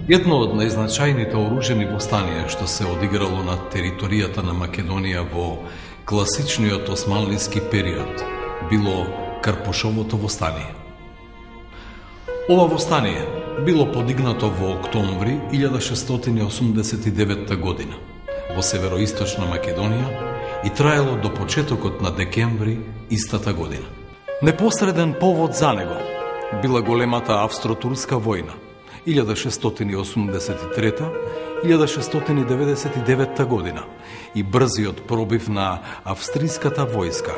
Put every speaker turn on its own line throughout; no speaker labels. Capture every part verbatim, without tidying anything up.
Едно од најзначајните оружени востанија што се одиграло на територијата на Македонија во класичниот османлиски период било Карпушовото востание. Ова востание било подигнато во октомври илјада шестстотини осумдесет и девета година во североисточна Македонија и траело до почетокот на декември истата година. Непосреден повод за него била големата австро-турска војна илјада шестстотини осумдесет и трета - илјада шестстотини деветдесет и девета година и брзиот пробив на австриската војска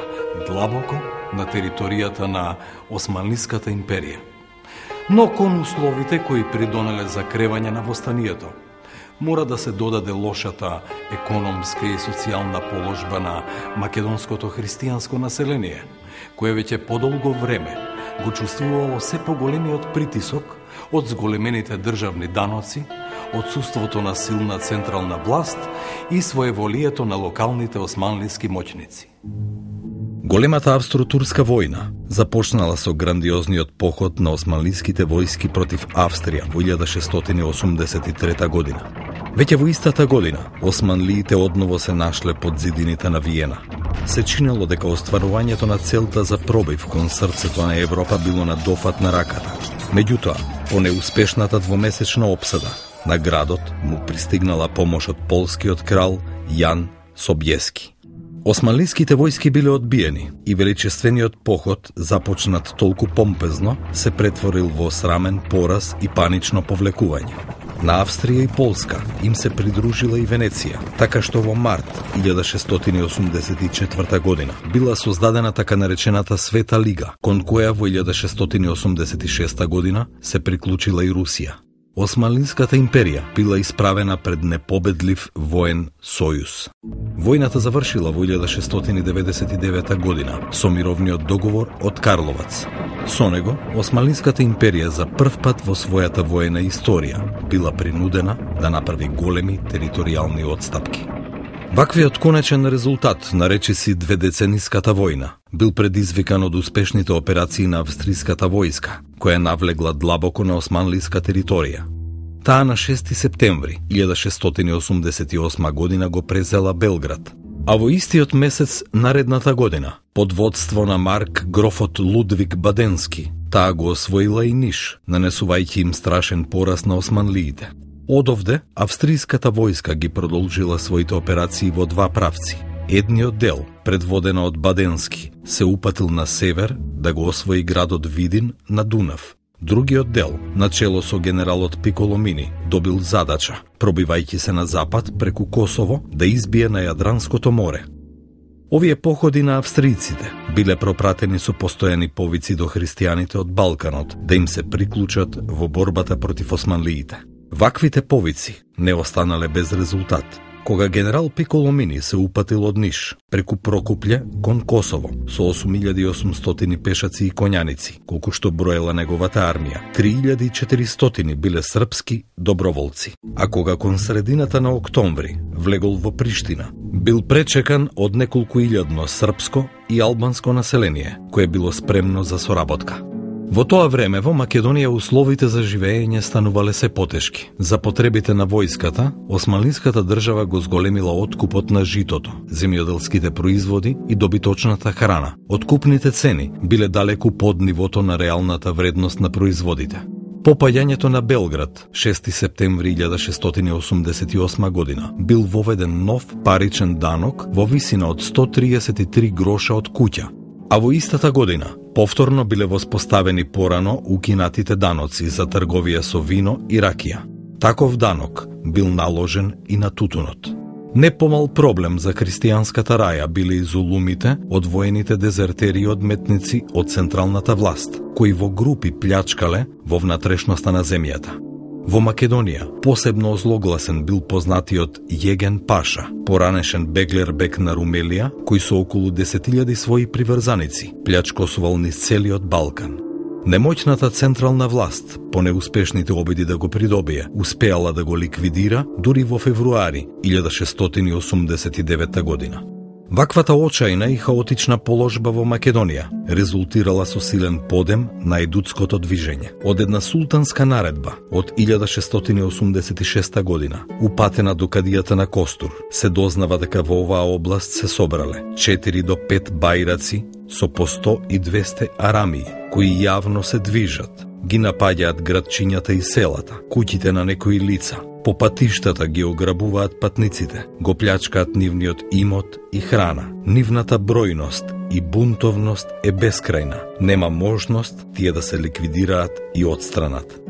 длабоко на територијата на Османлиската империја. Но кон условите кои придонеле за кревање на востанието, мора да се додаде лошата економска и социјална положба на македонското христијанско население, кое веќе подолго време го чувствувало се поголемиот притисок од зголемените државни даноци, отсуството на силна централна власт и своеволието на локалните османлиски моќници. Големата австро-турска војна започнала со грандиозниот поход на османлиските војски против Австрија во илјада шестстотини осумдесет и трета година. Веќе во истата година османлиите одново се нашле под зидините на Виена. Се чинело дека остварувањето на целта за пробив кон срцето на Европа било на дофат на раката. Меѓутоа, по неуспешната двомесечна опсада на градот му пристигнала помош од полскиот крал Јан Собјески. Османлиските војски биле одбиени и величествениот поход, започнат толку помпезно, се претворил во срамен пораз и панично повлекување. На Австрија и Полска им се придружила и Венеција, така што во март илјада шестстотини осумдесет и четврта година била создадена така наречената Света Лига, кон која во илјада шестстотини осумдесет и шеста година се приклучила и Русија. Османлиската империја била исправена пред непобедлив воен сојуз. Војната завршила во илјада шестстотини деветдесет и девета година со мировниот договор од Карловац. Со него, Османлиската империја за прв пат во својата воена историја била принудена да направи големи територијални отстапки. Ваквиот конечен резултат, наречиси дведецениската војна, бил предизвикан од успешните операции на австриската војска, која навлегла длабоко на османлиска територија. Таа на шести септември илјада шестстотини осумдесет и осма година го презела Белград, а во истиот месец наредната година, под водство на Марк грофот Лудвиг Баденски, таа го освоила и Ниш, нанесувајќи им страшен пораз на османлиите. Одовде, австриската војска ги продолжила своите операции во два правци. Едниот дел, предводена од Баденски, се упатил на север да го освои градот Видин на Дунав. Другиот дел, начело со генералот Пиколомини, добил задача, пробивајќи се на запад преку Косово, да избие на Јадранското море. Овие походи на австријците биле пропратени со постојани повици до христијаните од Балканот да им се приклучат во борбата против османлиите. Ваквите повици не останале без резултат, кога генерал Пиколомини се упатил од Ниш преку Прокупле кон Косово со осум илјади и осумстотини пешаци и коњаници, колку што броела неговата армија. три илјади и четиристотини биле српски доброволци, а кога кон средината на октомври влегол во Приштина, бил пречекан од неколку илјадно српско и албанско население, кое било спремно за соработка. Во тоа време во Македонија условите за живење станувале се потешки. За потребите на војската, османлиската држава го зголемила откупот на житото, земјоделските производи и добиточната храна. Откупните цени биле далеку под нивото на реалната вредност на производите. По паѓањето на Белград, шести септември илјада шестстотини осумдесет и осма година, бил воведен нов паричен данок во висина од сто триесет и три гроша од куќа, а во истата година повторно биле воспоставени порано укинатите даноци за трговија со вино и ракија. Таков данок бил наложен и на тутунот. Не помал проблем за христијанската раја биле и зулумите од воените дезертери и одметници од централната власт, кои во групи плячкале во внатрешноста на земјата. Во Македонија посебно озлогласен бил познатиот Јеген Паша, поранешен беглербек на Румелија, кој со околу десет илјади своји приврзаници плячкосувал низ целиот Балкан. Немоќната централна власт, по неуспешните обиди да го придобие, успеала да го ликвидира дури во февруари илјада шестстотини осумдесет и девета година.
Ваквата очајна и хаотична положба во Македонија резултирала со силен подем на ајдутското движење. Од една султанска наредба од илјада шестстотини осумдесет и шеста година, упатена до кадијата на Костур, се дознава дека во оваа област се собрале четири до пет бајраци со по сто и двесте арамии, кои јавно се движат, ги напаѓаат градчињата и селата, куќите на некои лица, по патиштата ги ограбуваат патниците, го плячкаат нивниот имот и храна. Нивната бројност и бунтовност е бескрајна. Нема можност тие да се ликвидираат и отстранат.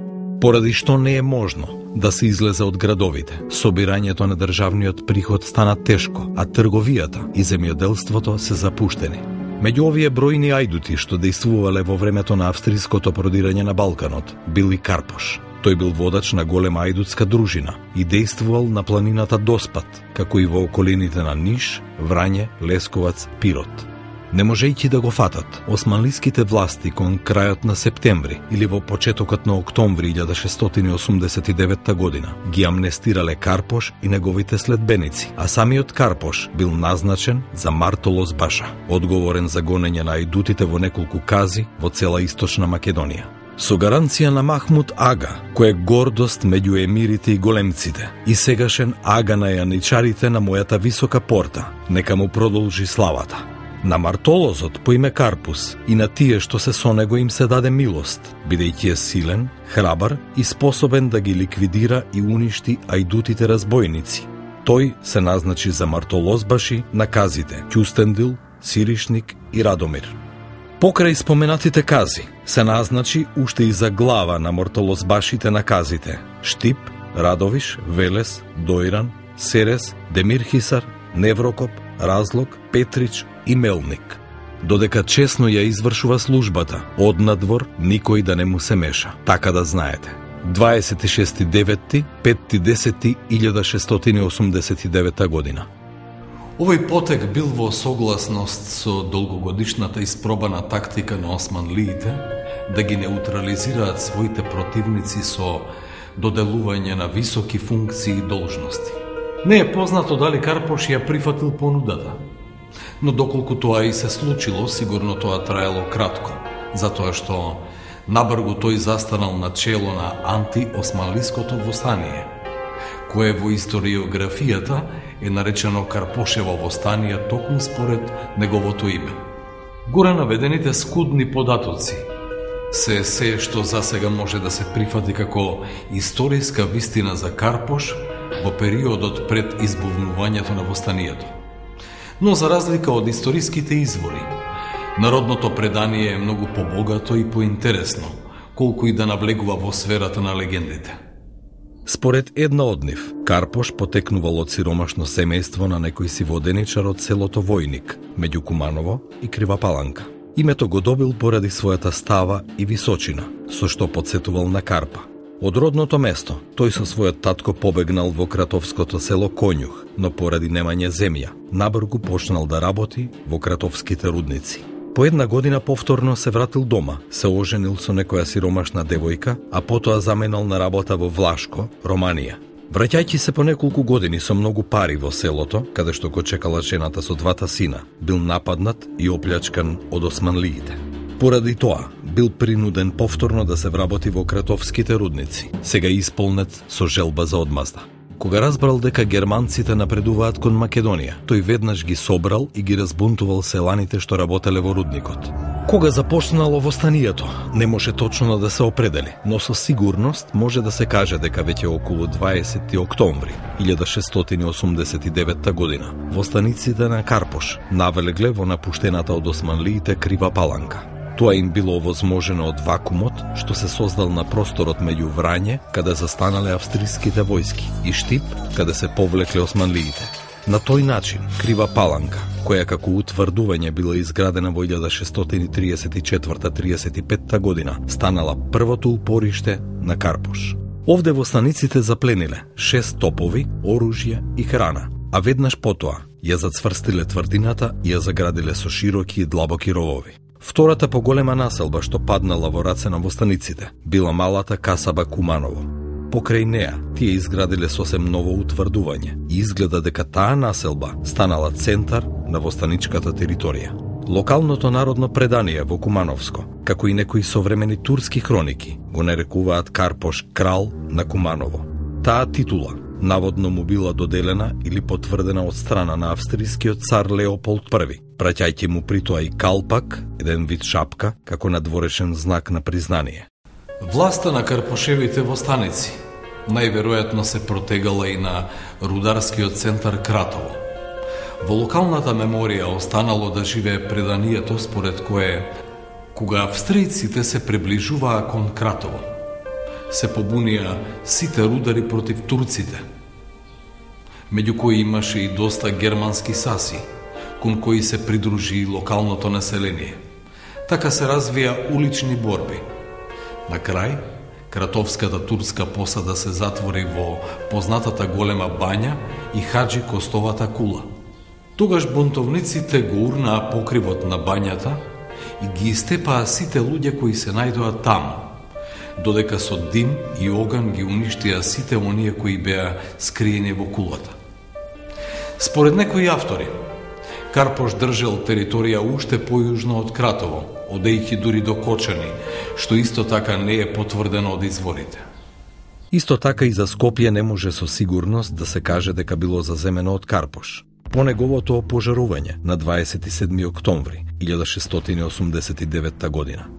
Поради што не е можно да се излезе од градовите, собирањето на државниот приход стана тешко, а трговијата и земјоделството се запуштени. Меѓу овие бројни ајдути што дејствувале во времето на австриското продирање на Балканот, бил и Карпош. Тој бил водач на голема ајдутска дружина и дејствувал на планината Доспат, како и во околините на Ниш, Врање, Лесковац, Пирот. Не можејќи да го фатат, османлиските власти кон крајот на септември или во почетокот на октомври илјада шестстотини осумдесет и девета година ги амнестирале Карпош и неговите следбеници, а самиот Карпош бил назначен за Мартолос Баша, одговорен за гонење на ајдутите во неколку кази во цела источна Македонија. Со гаранција на Махмуд Ага, кој е гордост меѓу емирите и големците и сегашен ага на јаничарите на мојата висока порта, нека му продолжи славата. На Мартолозот по име Карпус и на тие што се со него им се даде милост, бидејќи е силен, храбар и способен да ги ликвидира и уништи ајдутите разбойници. Тој се назначи за Мартолозбаши на казите Ќустендил, Сиришник и Радомир. Покрај споменатите кази, се назначи уште и за глава на мартолозбашите на казите Штип, Радовиш, Велес, Дојран, Серес, Демирхисар, Неврокоп, Разлог, Петрич и Мелник. Додека чесно ја извршува службата, однадвор никој да не му се меша, така да знаете. дваесет и шести девети пети десети илјада шестстотини осумдесет и девета година.
Овој потек бил во согласност со долгогодишната испробана тактика на османлиите да ги неутрализираат своите противници со доделување на високи функции и должности. Не е познато дали Карпош ја прифатил понудата, но доколку тоа и се случило, сигурно тоа траело кратко, затоа што набргу тој застанал на чело на антиосманлиското востание, кое во историографијата е наречено Карпошево востание токму според неговото име. Горе наведените скудни податоци се се што засега може да се прифати како историска вистина за Карпош во периодот пред избувнувањето на востанието. Но за разлика од историските извори, народното предание е многу побогато и поинтересно, колку и да навлегува во сферата на легендите.
Според една од нив, Карпош потекнувал од сиромашно семејство на некој си воденичар од селото Војник, меѓу Куманово и Крива Паланка. Името го добил поради својата става и височина, со што подсетувал на Карпа. Од родното место, тој со својот татко побегнал во кратовското село Конјух, но поради немање земја, набргу почнал да работи во кратовските рудници. По една година повторно се вратил дома, се оженил со некоја сиромашна девојка, а потоа заменал на работа во Влашко, Романија. Враќајќи се по неколку години со многу пари во селото, каде што го чекала жената со двата сина, бил нападнат и оплячкан од османлиите. Поради тоа, бил принуден повторно да се вработи во кратовските рудници, сега исполнет со желба за одмазда. Кога разбрал дека германците напредуваат кон Македонија, тој веднаш ги собрал и ги разбунтувал селаните што работеле во рудникот. Кога започнало востанието, не може точно да се определи, но со сигурност може да се каже дека веќе околу дваесети октомври илјада шестстотини осумдесет и девета година востаниците на Карпош навлегле во напуштената од османлиите Крива Паланка. Тоа им било овозможено од вакуумот што се создал на просторот меѓу Врање, каде застанале австриските војски, и Штип, каде се повлекле османлиите. На тој начин, Крива Паланка, која како утврдување била изградена во илјада шестстотини триесет и четврта триесет и петта година, станала првото упориште на Карпош. Овде востаниците заплениле шест топови, оружје и храна, а веднаш потоа ја зацврстиле тврдината и ја заградиле со широки и длабоки ровови. Втората поголема населба што паднала во раце на востаниците била малата касаба Куманово. Покрај неа, тие изградиле сосем ново утврдување и изгледа дека таа населба станала центар на востаничката територија. Локалното народно предание во Кумановско, како и некои современи турски хроники, го нарекуваат Карпош крал на Куманово. Таа титула наводно му била доделена или потврдена од страна на австрискиот цар Леополд први, праќајќи му при тоа и калпак, еден вид шапка, како надворешен знак на признание.
Власта на Карпошевите востаници најверојатно се протегала и на рударскиот центар Кратово. Во локалната меморија останало да живее преданието според кое, кога австријците се приближуваа кон Кратово, се побунија сите рудари против турците, меѓу кои имаше и доста германски саси, кон кои се придружи и локалното население. Така се развија улични борби. На крај, кратовската турска посада се затвори во познатата голема бања и Хаджи Костовата кула. Тогаш бунтовниците го урнаа покривот на бањата и ги истепаа сите луѓе кои се најдоа таму, додека со дим и оган ги уништија сите оние кои беа скриени во кулата. Според некои автори, Карпош држел територија уште појужно од Кратово, одејќи дури до Кочани, што исто така не е потврдено од изворите.
Исто така и за Скопје не може со сигурност да се каже дека било заземено од Карпош. По неговото опожарување на дваесет и седми октомври илјада шестстотини осумдесет и девета година.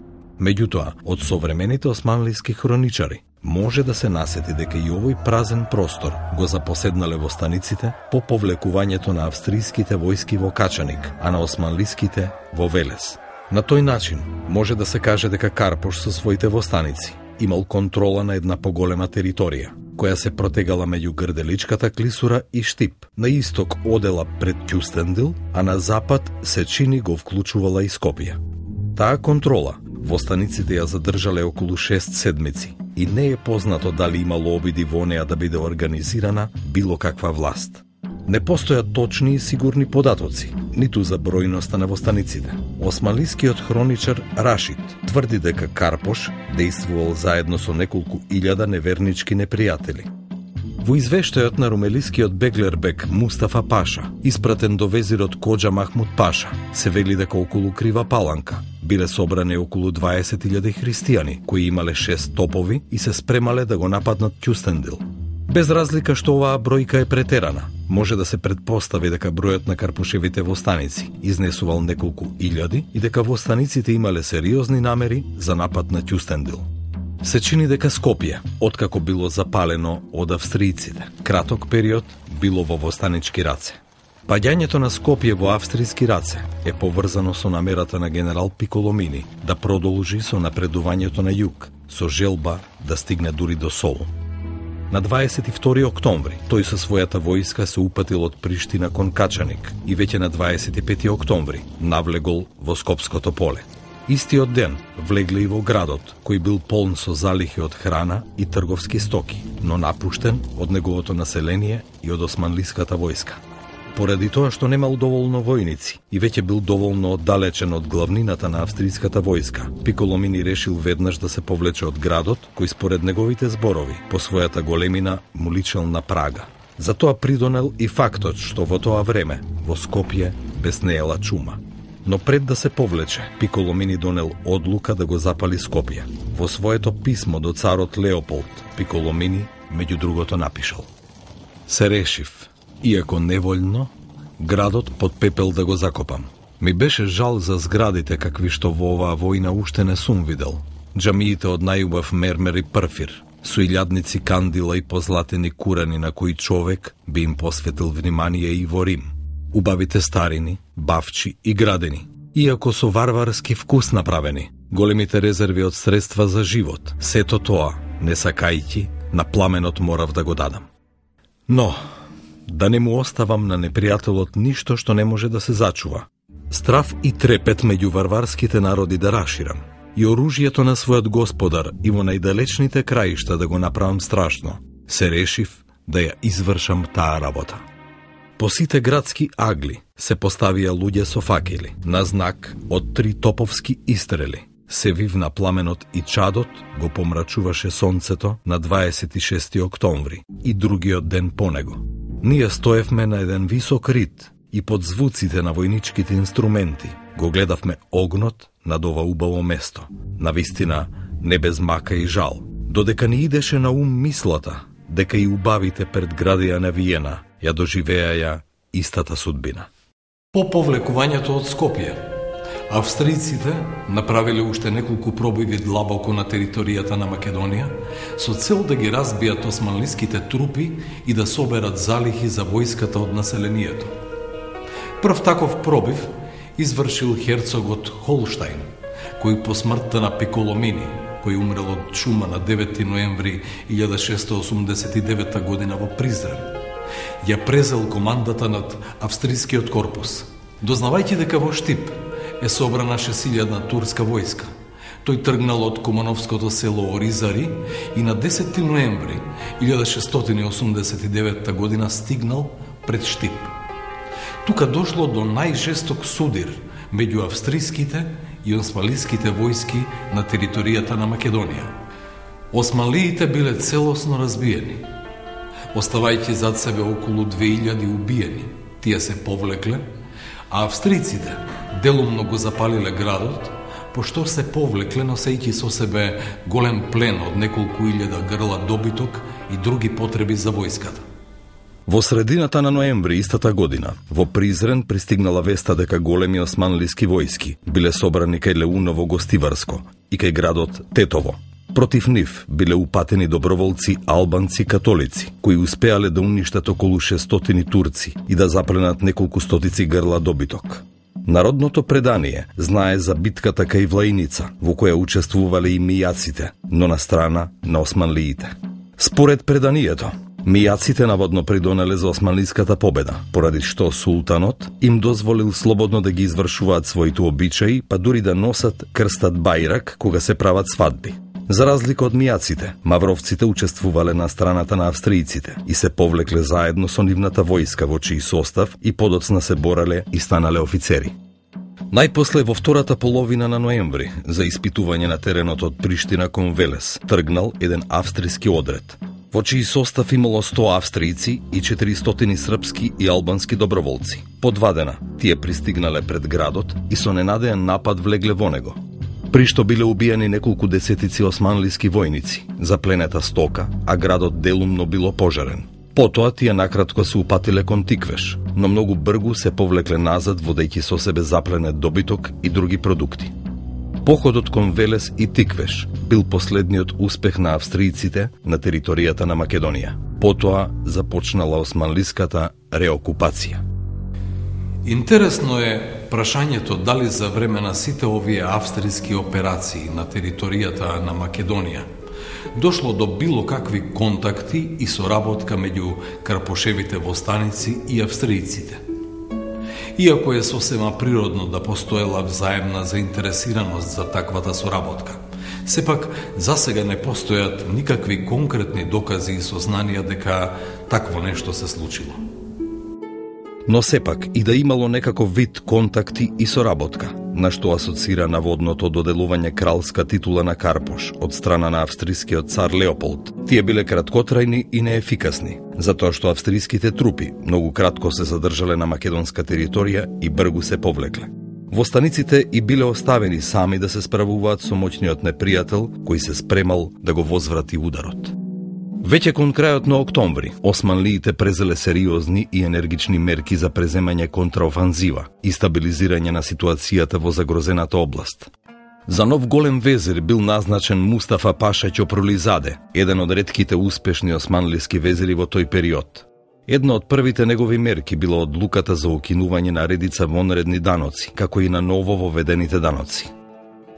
Меѓутоа, од современите османлиски хроничари може да се насети дека и овој празен простор го запоседнале востаниците по повлекувањето на австријските војски во Качаник, а на османлиските во Велес. На тој начин може да се каже дека Карпош со своите востаници имал контрола на една поголема територија, која се протегала меѓу Грделичката клисура и Штип. На исток одела пред Кюстендил, а на запад Сечини го вклучувала и Скопје. Таа контрола востаниците ја задржале околу шест седмици и не е познато дали имало обиди во неа да биде организирана било каква власт. Не постојат точни и сигурни податоци, ниту за бројноста на востаниците. Османлискиот хроничар Рашид тврди дека Карпош действувал заедно со неколку илјада невернички непријатели. Во извештајот на румелискиот беглербек Мустафа Паша, испратен до везирот Коџа Махмуд Паша, се вели дека околу Крива Паланка биле собрани околу дваесет илјади христијани, кои имале шест топови и се спремале да го нападнат Кюстендил. Без разлика што оваа бројка е претерана, може да се предпостави дека бројот на Карпошевите востаници изнесувал неколку илјади и дека востаниците имале сериозни намери за напад на Кюстендил. Се чини дека Скопје, откако било запалено од австријците, краток период било во востанички раце. Паѓањето на Скопје во австријски раце е поврзано со намерата на генерал Пиколомини да продолжи со напредувањето на југ, со желба да стигне дури до Солун. На дваесет и втори октомври тој со својата војска се упатил од Приштина кон Качаник и веќе на дваесет и пети октомври навлегол во Скопското поле. Истиот ден влегле и во градот, кој бил полн со залихи од храна и трговски стоки, но напуштен од неговото население и од османлиската војска. Поради тоа што немал доволно војници и веќе бил доволно оддалечен од главнината на австријската војска, Пиколомини решил веднаш да се повлече од градот, кој според неговите зборови по својата големина му личел на Прага. Затоа придонел и фактот што во тоа време во Скопје беснеела чума. Но пред да се повлече, Пиколомини донел одлука да го запали Скопје. Во своето писмо до царот Леополд, Пиколомини меѓу другото напишал: Се решив, иако неволно, градот под пепел да го закопам. Ми беше жал за зградите какви што во оваа војна уште не сум видел. Џамиите од најубав мермер и прфир, со илјадници кандила и позлатени курани на кои човек би им посветил внимание и во Рим. Убавите старини, бавчи и градени, иако со варварски вкус направени, големите резерви од средства за живот, сето тоа, не сакајќи, на пламенот морав да го дадам. Но, да не му оставам на непријателот ништо што не може да се зачува. Страв и трепет меѓу варварските народи да раширам, и оружјето на својот господар и во најдалечните краишта да го направам страшно, се решив да ја извршам таа работа. По сите градски агли се поставија луѓе со факели, на знак од три топовски истрели. се вивна пламенот и чадот го помрачуваше сонцето на дваесет и шести октомври и другиот ден по него. Ние стоевме на еден висок рид и под звуците на војничките инструменти го гледавме огнот над ова убаво место, навистина не без мака и жал, додека ни идеше на ум мислата дека и убавите предградија на Виена ја доживеаја истата судбина.
По повлекувањето од Скопје, австријците направиле уште неколку пробови длабоко на територијата на Македонија со цел да ги разбијат османлиските трупи и да соберат залихи за војската од населението. Прв таков пробив извршил херцогот Холштајн, кој по смртта на Пиколомини, кој умрел од чума на девети ноември илјада шестстотини осумдесет и девета година во Призрен, ја презел командата над австрискиот корпус. Дознавајќи дека во Штип е собрана шест-илјадна турска војска, тој тргнал од Кумановското село Оризари и на десети ноември илјада шестстотини осумдесет и девета година стигнал пред Штип. Тука дошло до најжесток судир меѓу австриските и османлиските војски на територијата на Македонија. Османлиите биле целосно разбиени, оставајќи зад себе околу две илјади убиени. Тие се повлекле, а австриците делумно го запалиле градот, пошто се повлекле носејќи со себе голем плен од неколку илјада грла добиток и други потреби за војската.
Во средината на ноември истата година, во Призрен пристигнала веста дека големи османлиски војски биле собрани кај Леуново Гостиварско и кај градот Тетово. Против нив биле упатени доброволци албанци католици, кои успеале да уништат околу шестстотини турци и да запленат неколку стотици грла добиток. Народното предание знае за битката кај Влаиница, во која учествувале и мијаците, но на страна на османлиите. Според преданието, мијаците наводно придонеле за османлиската победа, поради што султанот им дозволил слободно да ги извршуваат своите обичаи, па дури да носат крстат бајрак кога се прават свадби. За разлика од мијаците, мавровците учествувале на страната на австријците и се повлекле заедно со нивната војска во чиј состав и подоцна се бореле и станале офицери. Најпосле во втората половина на ноември, за испитување на теренот од Приштина кон Велес, тргнал еден австријски одред, во чиј состав имало сто австријци и четиристотини српски и албански доброволци. По два дена тие пристигнале пред градот и со ненадеен напад влегле во него, при што биле убиени неколку десетици османлиски војници, запленета стока, а градот делумно било пожарен. Потоа тие накратко се упатиле кон Тиквеш, но многу бргу се повлекле назад водејќи со себе запленет добиток и други продукти. Походот кон Велес и Тиквеш бил последниот успех на австријците на територијата на Македонија. Потоа започнала османлиската реокупација.
Интересно е прашањето дали за време на сите овие австријски операции на територијата на Македонија дошло до било какви контакти и соработка меѓу карпошевите востаници и австријците. Иако е сосема природно да постоела взаемна заинтересираност за таквата соработка, сепак засега не постојат никакви конкретни докази и сознанија дека такво нешто се случило.
Но сепак и да имало некаков вид контакти и соработка, на што асоцира наводното доделување кралска титула на Карпош од страна на австрискиот цар Леополд, тие биле краткотрајни и неефикасни, затоа што австриските трупи многу кратко се задржале на македонска територија и бргу се повлекле. Востаниците и биле оставени сами да се справуваат со моćниот непријател кој се спремал да го возврати ударот. Веќе кон крајот на октомври, османлиите презеле сериозни и енергични мерки за преземање контраофанзива и стабилизирање на ситуацијата во загрозената област. За нов голем везир бил назначен Мустафа Паша Ќопрулизаде, еден од ретките успешни османлиски везири во тој период. Една од првите негови мерки била одлуката за укинување на редица вонредни даноци, како и на ново воведените даноци.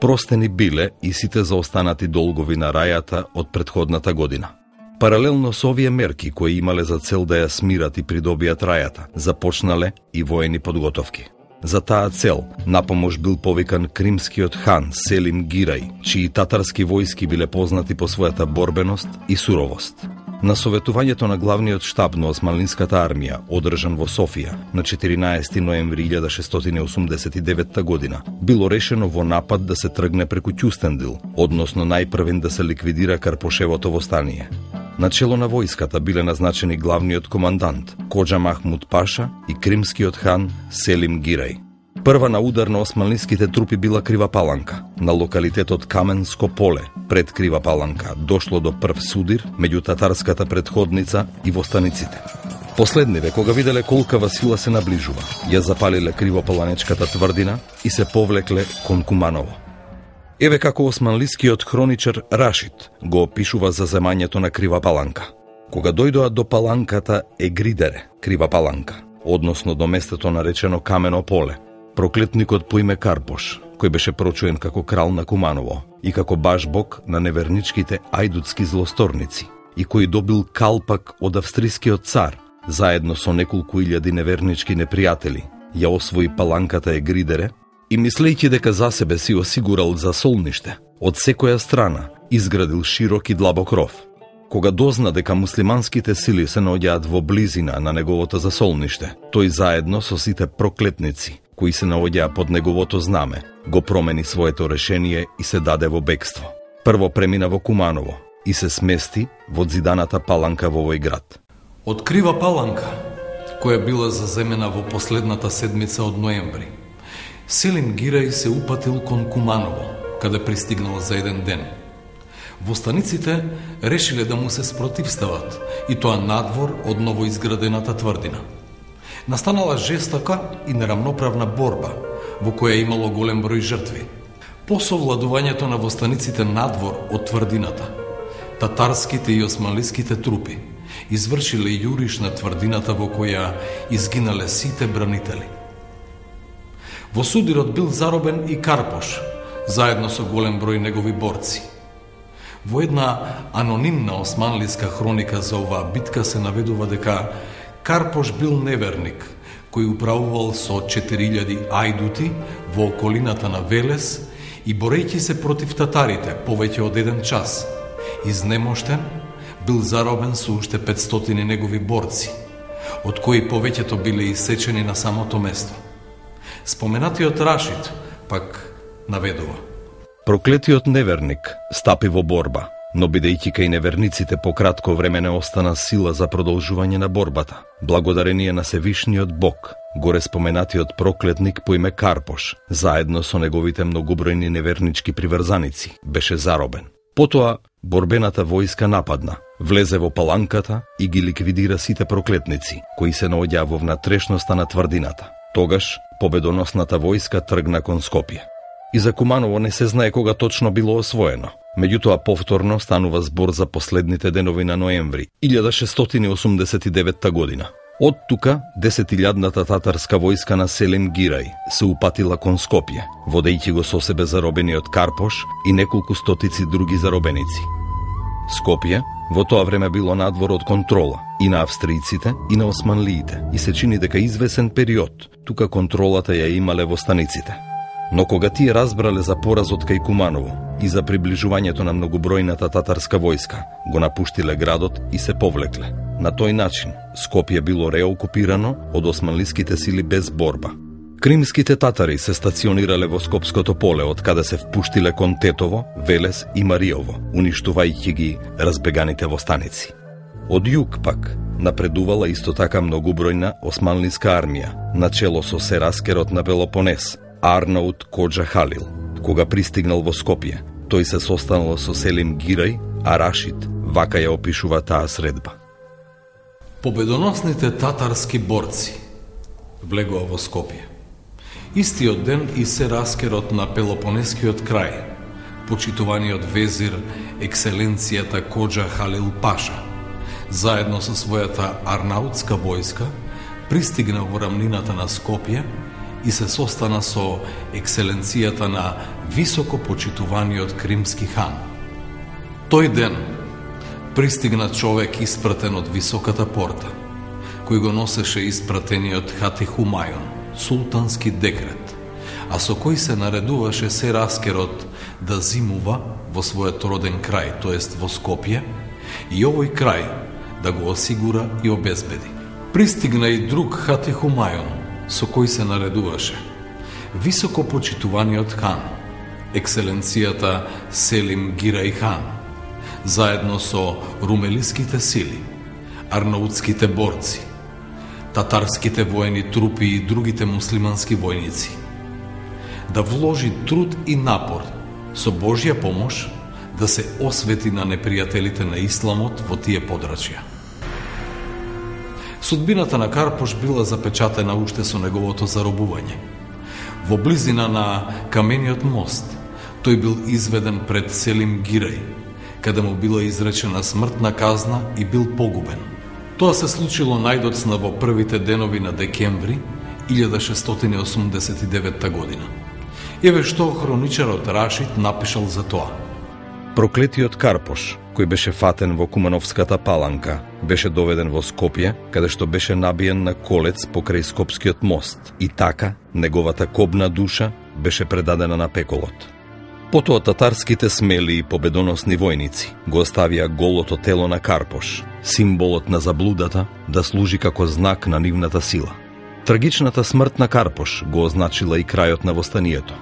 Простени биле и сите заостанати долгови на рајата од претходната година. Паралелно со овие мерки, кои имале за цел да ја смират и придобијат рајата, започнале и воени подготовки. За таа цел, напомош бил повикан кримскиот хан Селим Гирај, чии татарски војски биле познати по својата борбеност и суровост. На советувањето на главниот штаб на османлинската армија, одржан во Софија на четиринаесети ноември илјада шестстотини осумдесет и девета година, било решено во напад да се тргне преку Ќустендил, односно најпрвен да се ликвидира Карпошевото востание. На чело на војската биле назначени главниот командант Коџа Махмуд Паша и кримскиот хан Селим Гирај. Прва на удар на османлиските трупи била Крива Паланка. На локалитетот Каменско поле, пред Крива Паланка, дошло до прв судир меѓу татарската предходница и востаниците. Последниве, кога виделе колкава сила се наближува, ја запалиле Кривопаланечката тврдина и се повлекле кон Куманово. Еве како османлискиот хроничар Рашид го опишува за земањето на Крива Паланка. Кога дојдоа до паланката Егридере, Крива Паланка, односно до местото наречено Камено поле, проклетникот по име Карпош, кој беше прочуен како крал на Куманово и како баш бог на неверничките ајдутски злосторници, и кој добил калпак од австрискиот цар, заедно со неколку илјади невернички непријатели, ја освои паланката Егридере и, мислејќи дека за себе си осигурал засолниште, од секоја страна изградил широк и длабок ров. Кога дозна дека муслиманските сили се наоѓаат во близина на неговото засолниште, тој заедно со сите проклетници кои се наоѓаа под неговото знаме, го промени своето решение и се даде во бегство. Прво премина во Куманово и се смести во зиданата паланка во овој град.
Од Крива Паланка, која била заземена во последната седмица од ноември, Селим Гирај се упатил кон Куманово, каде пристигнал за еден ден. Востаниците решиле да му се спротивстават, и тоа надвор од новоизградената тврдина. Настанала жестока и неравноправна борба, во која имало голем број жртви. По совладувањето на востаниците надвор од тврдината, татарските и османлиските трупи извршиле јуриш на тврдината во која изгинале сите бранители. Во судирот бил заробен и Карпош, заедно со голем број негови борци. Во една анонимна османлиска хроника за оваа битка се наведува дека Карпош бил неверник, кој управувал со четири илјади ајдути во околината на Велес и, борејќи се против татарите повеќе од еден час, изнемоштен, бил заробен со уште петстотини негови борци, од кои повеќето биле исечени на самото место. Споменатиот Рашид пак наведува:
проклетиот неверник стапи во борба, но бидејќи кај неверниците по кратко време не остана сила за продолжување на борбата, благодарение на Севишниот Бог, горе споменатиот проклетник по име Карпош, заедно со неговите многобројни невернички приврзаници, беше заробен. Потоа борбената војска нападна, влезе во паланката и ги ликвидира сите проклетници, кои се наоѓаа во внатрешноста на тврдината. Тогаш победоносната војска тргна кон Скопје. И за Куманово не се знае кога точно било освоено. Меѓутоа повторно станува збор за последните денови на ноември илјада шестстотини осумдесет и девета година. Од тука десетилјадната татарска војска на Селим Гирај се упатила кон Скопје, водејќи го со себе заробениот Карпош и неколку стотици други заробеници. Скопје во тоа време било надвор од контрола и на австријците и на османлиите и се чини дека извесен период тука контролата ја имале востаниците. Но кога тие разбрале за поразот кај Куманово и за приближувањето на многобројната татарска војска, го напуштиле градот и се повлекле. На тој начин Скопје било реокупирано од османлиските сили без борба. Кримските татари се стационирале во Скопското поле, од каде се впуштиле кон Тетово, Велес и Мариово, уништувајќи ги разбеганите востаници. Од југ пак напредувала исто така многобројна османлиска армија, начело со Сераскерот на Пелопонес, Арнаут Коџа Халил. Кога пристигнал во Скопје, тој се состанал со Селим Гирај, а Рашид вака ја опишува таа средба.
Победоносните татарски борци влегоа во Скопје. Истиот ден и Сераскерот на Пелопонескиот крај, почитуваниот везир екселенцијата Коџа Халил Паша, заедно со својата арнаутска војска, пристигна во рамнината на Скопје и се состана со екселенцијата на високо почитуваниот кримски хан. Тој ден пристигна човек испратен од високата порта, кој го носеше испратениот Хати Хумајон, султански декрет, а со кој се наредуваше Сераскерот да зимува во својот роден крај, тоест во Скопје, и овој крај да го осигура и обезбеди. Пристигна и друг Хатехумајон, со кој се наредуваше високо почитуваниот хан, екселенцијата Селим Гирај хан, заедно со румелиските сили, арнаутските борци, татарските воени трупи и другите муслимански војници, да вложи труд и напор со Божја помош да се освети на непријателите на исламот во тие подрачја. Судбината на Карпош била запечатена уште со неговото заробување. Во близина на камениот мост, тој бил изведен пред Селим Гирај, каде му била изречена смртна казна и бил погубен. Тоа се случило најдоцна во првите денови на декември илјада шестстотини осумдесет и девета година. Еве што хроничарот Рашид напишал за тоа.
Проклетиот Карпош, кој беше фатен во Кумановската паланка, беше доведен во Скопје, каде што беше набиен на колец покрај Скопскиот мост и така неговата кобна душа беше предадена на пеколот. Потоа татарските смели и победоносни војници го оставија голото тело на Карпош, символот на заблудата, да служи како знак на нивната сила. Трагичната смрт на Карпош го означила и крајот на востанието.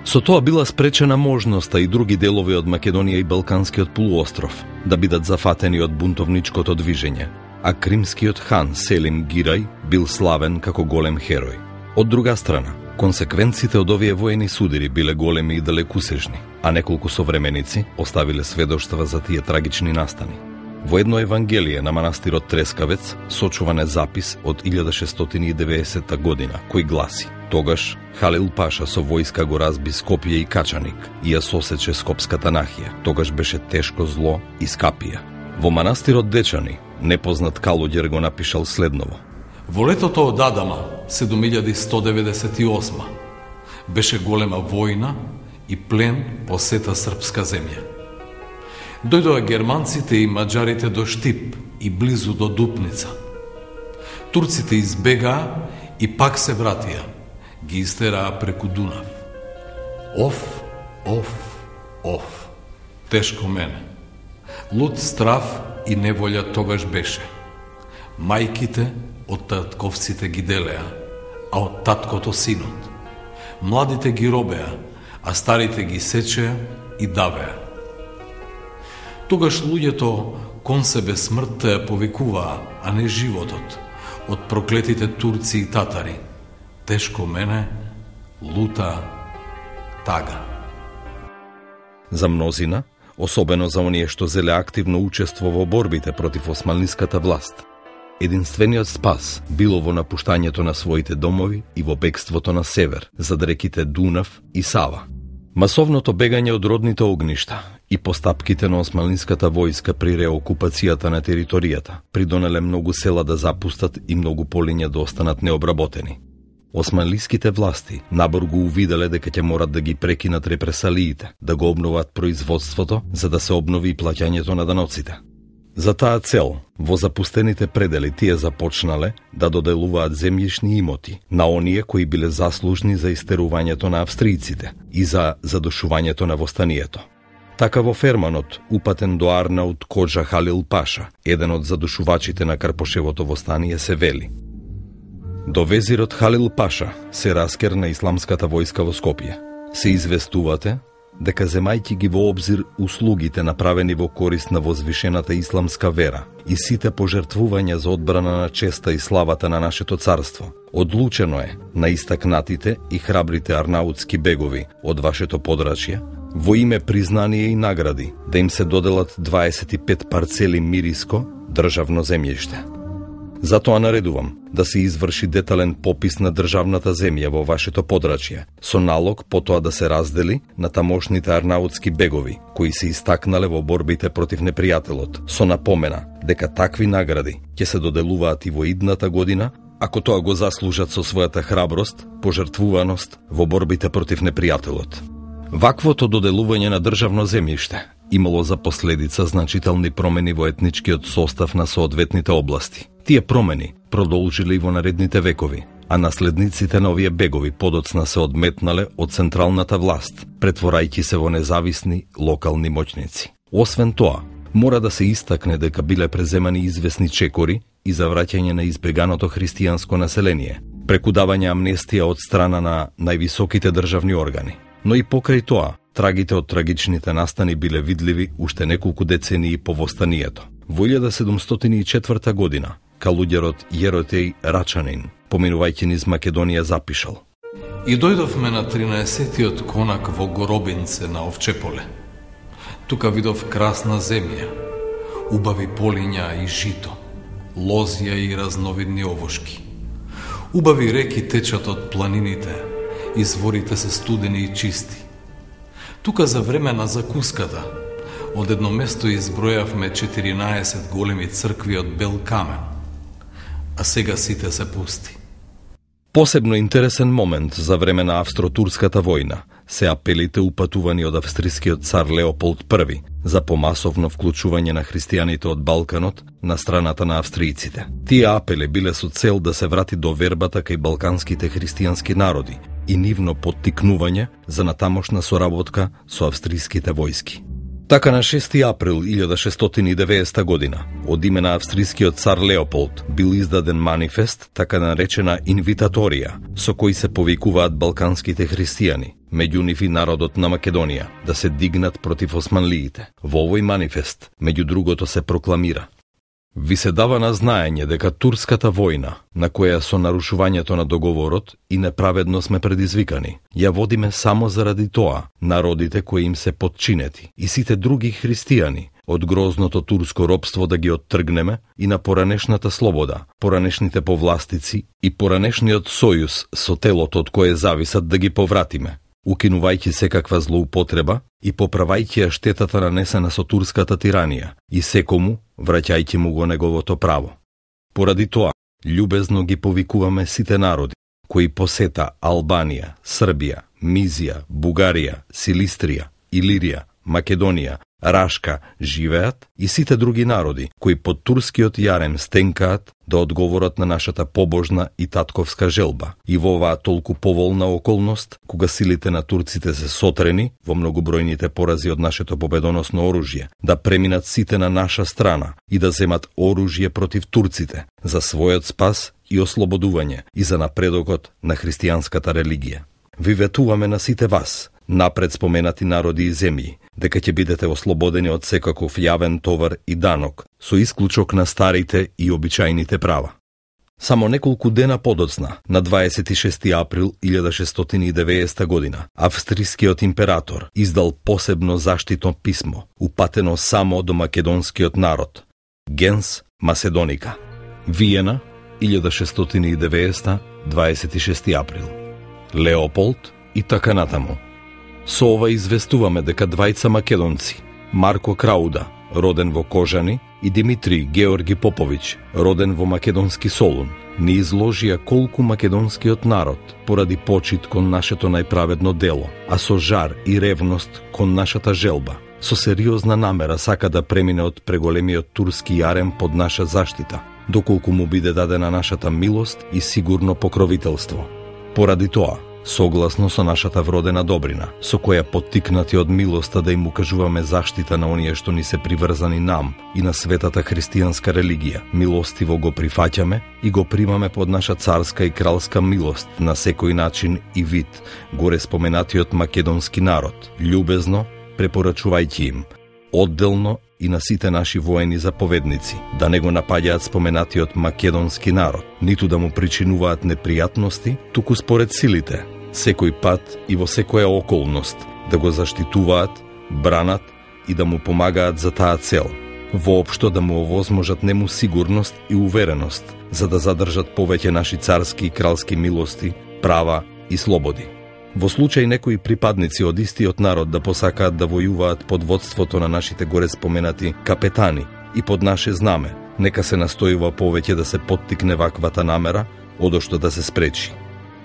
Со тоа била спречена можноста и други делови од Македонија и Балканскиот полуостров да бидат зафатени од бунтовничкото движење, а кримскиот хан Селим Гирај бил славен како голем херој. Од друга страна, консеквенците од овие воени судири биле големи и далекусежни, а неколку современици оставиле сведоштва за тие трагични настани. Во едно евангелие на манастирот Трескавец сочуван е запис од илјада шестстотини и деветдесета година, кој гласи: тогаш Халил Паша со војска го разби Скопје и Качаник и ја сосече Скопската нахија. Тогаш беше тешко зло и Скапија. Во манастирот Дечани непознат калуѓер го напишал следново:
во летото од Адама, седум илјади сто деветдесет и осма, беше голема војна и плен по сета српска земја. Дојдоа германците и маđарите до Штип и близу до Дупница. Турците избегаа и пак се вратија, ги истераа преку Дунав. Оф, оф, оф, тешко мене. Луд страв и неволја тогаш беше. Мајките од татковците ги делеа, а од таткото синот. Младите ги робеа, а старите ги сечеа и давеа. Тогаш луѓето кон себе смртта ја повикуваа, а не животот, од проклетите турци и татари. Тешко мене, лута, тага.
За мнозина, особено за оние што зеле активно учество во борбите против османлиската власт, единствениот спас било во напуштањето на своите домови и во бегството на север, зад реките Дунав и Сава. Масовното бегање од родните огништа и постапките на османлиската војска при реокупацијата на територијата придонеле многу села да запустат и многу полиња да останат необработени. Османлиските власти набор го увиделе дека ќе морат да ги прекинат репресалиите, да го обноват производството за да се обнови и плаќањето на даноците. За таа цел, во запустените предели тие започнале да доделуваат земјишни имоти на оние кои биле заслужни за истерувањето на австријците и за задушувањето на востанието. Така во Ферманот, упатен до Арнаут Коджа Халил Паша, еден од задушувачите на Карпошевото востание, се вели: до везирот Халил Паша се раскерна исламската војска во Скопје. Се известувате дека земајќи ги во обзир услугите направени во корист на возвишената исламска вера и сите пожртвувања за одбрана на честа и славата на нашето царство, одлучено е на истакнатите и храбрите арнаутски бегови од вашето подрачје, во име признание и награди, да им се доделат дваесет и пет парцели мириско државно земјиште. Затоа наредувам да се изврши детален попис на државната земја во вашето подрачје, со налог потоа да се раздели на тамошните арнаутски бегови, кои се истакнале во борбите против непријателот, со напомена дека такви награди ќе се доделуваат и во идната година, ако тоа го заслужат со својата храброст, пожртвуваност во борбите против непријателот. Ваквото доделување на државно земјиште имало за последица значителни промени во етничкиот состав на соодветните области. Тие промени продолжиле и во наредните векови, а наследниците на овие бегови подоцна се одметнале од централната власт, претворајќи се во независни локални моќници. Освен тоа, Мора да се истакне дека биле преземани известни чекори и за враќање на избеганото христијанско население, преку давање амнестија од страна на највисоките државни органи. Но и покрај тоа, трагите од трагичните настани биле видливи уште неколку децении по востанието. Во илјада седумстотини и четврта година, калуѓерот Јеротеј Рачанин, поминувајќи низ Македонија, запишал:
И дојдовме на тринаесеттиот конак во Горобинце на Овчеполе. Тука видов красна земја, убави полиња и жито, лозја и разновидни овошки. Убави реки течат од планините, изворите се студени и чисти. Тука за време на закуската, од едно место избројавме четиринаесет големи цркви од бел камен, а сега сите се пусти.
Посебно интересен момент за време на Австро-турската војна се апелите упатувани од австрискиот цар Леополд Први за помасовно вклучување на христијаните од Балканот на страната на австријците. Тие апели биле со цел да се врати довербата кај балканските христијански народи и нивно поттикнување за натамошна соработка со австриските војски. Така на шести април илјада шестстотини и деветдесета година, од име на австрискиот цар Леополд, бил издаден манифест, така наречена инвитаторија, со кој се повикуваат балканските христијани, меѓу нив и народот на Македонија, да се дигнат против османлиите. Во овој манифест, меѓу другото, се прокламира: Ви се дава на знаење дека турската војна, на која со нарушувањето на договорот и неправедно сме предизвикани, ја водиме само заради тоа народите кои им се подчинети и сите други христијани од грозното турско робство да ги оттргнеме и на поранешната слобода, поранешните повластици и поранешниот сојуз со телото од кое зависат да ги повратиме, укинувајќи секаква злоупотреба и поправајќи ја штетата нанесена со турската тиранија и секому враќајќи му го неговото право. Поради тоа, љубезно ги повикуваме сите народи кои посета Албанија, Србија, Мизија, Бугарија, Силистрија, Илирија, Македонија, Рашка живеат и сите други народи кои под турскиот јарем стенкаат да одговорат на нашата побожна и татковска желба. И во оваа толку поволна околност, кога силите на турците се сотрени во многобројните порази од нашето победоносно оружје, да преминат сите на наша страна и да земат оружје против турците за својот спас и ослободување и за напредокот на христијанската религија. Ви ветуваме на сите вас, напред споменати народи и земји, дека ќе бидете ослободени од секаков јавен товар и данок, со исклучок на старите и обичајните права. Само неколку дена подоцна, на дваесет и шести април илјада шестстотини и деветдесета година, австрискиот император издал посебно заштитно писмо, упатено само до македонскиот народ, Gens Macedoniae. Виена, илјада шестстотини и деветдесета, дваесет и шести април. Леополд и така натаму. Со ова известуваме дека двајца македонци, Марко Крауда, роден во Кожани, и Димитри Георги Поповиќ, роден во македонски Солун, ни изложија колку македонскиот народ, поради почит кон нашето најправедно дело, а со жар и ревност кон нашата желба, со сериозна намера сака да премине од преголемиот турски јарем под наша заштита, доколку му биде дадена нашата милост и сигурно покровителство. Поради тоа, согласно со нашата вродена добрина, со која поттикнати од милоста да им укажуваме заштита на оние што ни се приврзани нам и на светата христијанска религија, милостиво го прифаќаме и го примаме под наша царска и кралска милост на секој начин и вид, горе споменатиот македонски народ, љубезно препорачувајќи им, одделно и на сите наши воени заповедници, да не го напаѓаат споменатиот македонски народ, ниту да му причинуваат непријатности, туку според силите, секој пат и во секоја околност, да го заштитуваат, бранат и да му помагаат за таа цел, воопшто да му овозможат нему сигурност и увереност, за да задржат повеќе наши царски и кралски милости, права и слободи. Во случај некои припадници од истиот народ да посакаат да војуваат под водството на нашите горе споменати капетани и под наше знаме, нека се настојува повеќе да се поттикне ваквата намера, одошто да се спречи.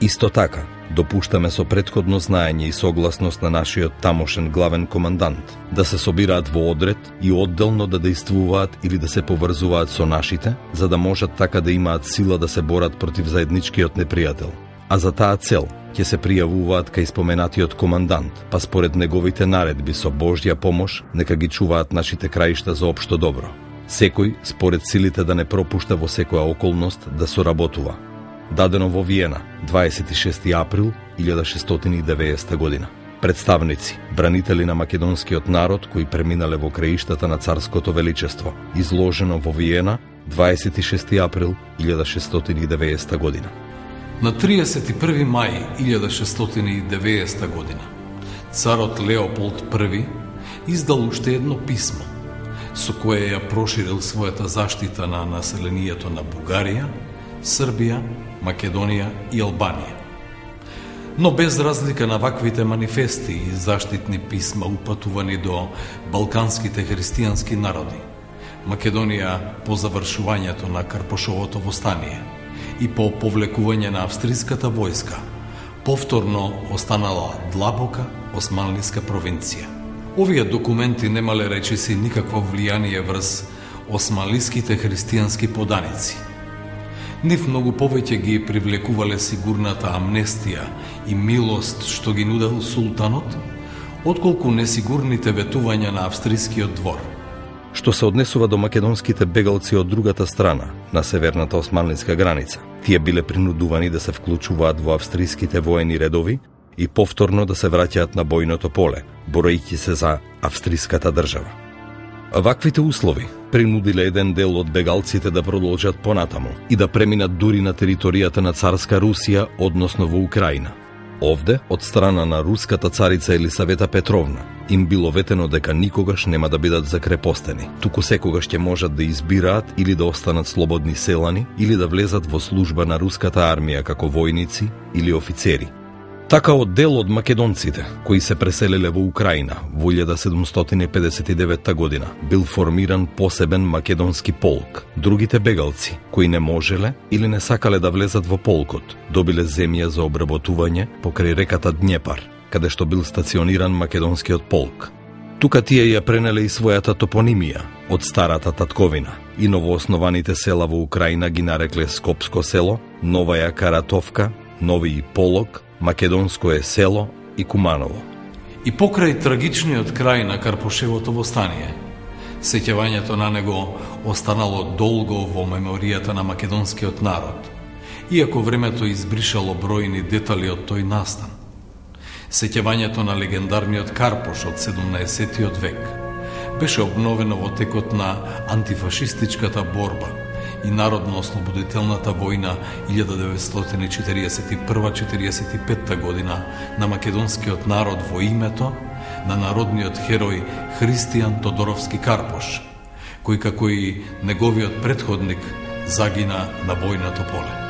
Исто така, допуштаме со претходно знаење и согласност на нашиот тамошен главен командант да се собираат во одред и одделно да действуваат или да се поврзуваат со нашите, за да можат така да имаат сила да се борат против заедничкиот непријател. а за таа цел ќе се пријавуваат кај споменатиот командант, па според неговите наредби со Божја помош нека ги чуваат нашите краишта за општо добро. Секој според силите да не пропушта во секоја околност да соработува. Дадено во Виена, дваесет и шести април илјада шестстотини и деветдесета година. Представници, бранители на македонскиот народ кои преминале во краиштата на царското величество, изложено во Виена, дваесет и шести април илјада шестстотини и деветдесета година.
На триесет и први мај илјада шестстотини и деветдесета година, царот Леополд први издал уште едно писмо, со кое ја проширил својата заштита на населението на Бугарија, Србија, Македонија и Албанија. Но без разлика на ваквите манифести и заштитни писма упатувани до балканските христијански народи, Македонија по завршувањето на Карпошовото востание и по повлекување на австриската војска, повторно останала длабока османлиска провинција. Овие документи немале речиси никакво влијание врз османлиските христијански поданици. Нив многу повеќе ги привлекувале сигурната амнестија и милост што ги нудел султанот, отколку несигурните ветувања на австрискиот двор.
Што се однесува до македонските бегалци од другата страна, на северната османлиска граница, тие биле принудувани да се вклучуваат во австриските воени редови и повторно да се враќаат на бојното поле, борејќи се за австриската држава. Ваквите услови принудиле еден дел од бегалците да продолжат понатаму и да преминат дури на територијата на царска Русија, односно во Украина. Овде, од страна на руската царица Елисавета Петровна, им било ветено дека никогаш нема да бидат закрепостени, туку секогаш ќе можат да избираат или да останат слободни селани или да влезат во служба на руската армија како војници или офицери. Така од дел од македонците, кои се преселиле во Украина во илјада седумстотини педесет и девета година, бил формиран посебен македонски полк. Другите бегалци, кои не можеле или не сакале да влезат во полкот, добиле земја за обработување покрај реката Днепар, каде што бил стациониран македонскиот полк. Тука тие ја пренеле и својата топонимија од старата татковина и новооснованите села во Украина ги нарекле Скопско село, Новаја Каратовка, Нови Полог, Македонско е село и Куманово.
И покрај трагичниот крај на Карпошевото востание, сеќавањето на него останало долго во меморијата на македонскиот народ, иако времето избришало бројни детали од тој настан. Сеќавањето на легендарниот Карпош од седумнаесеттиот век беше обновено во текот на антифашистичката борба и народно-ослободителната војна илјада деветстотини четириесет и прва до четириесет и петта година на македонскиот народ во името на народниот херој Христијан Тодоровски Карпош, кој како и неговиот претходник загина на бојното поле.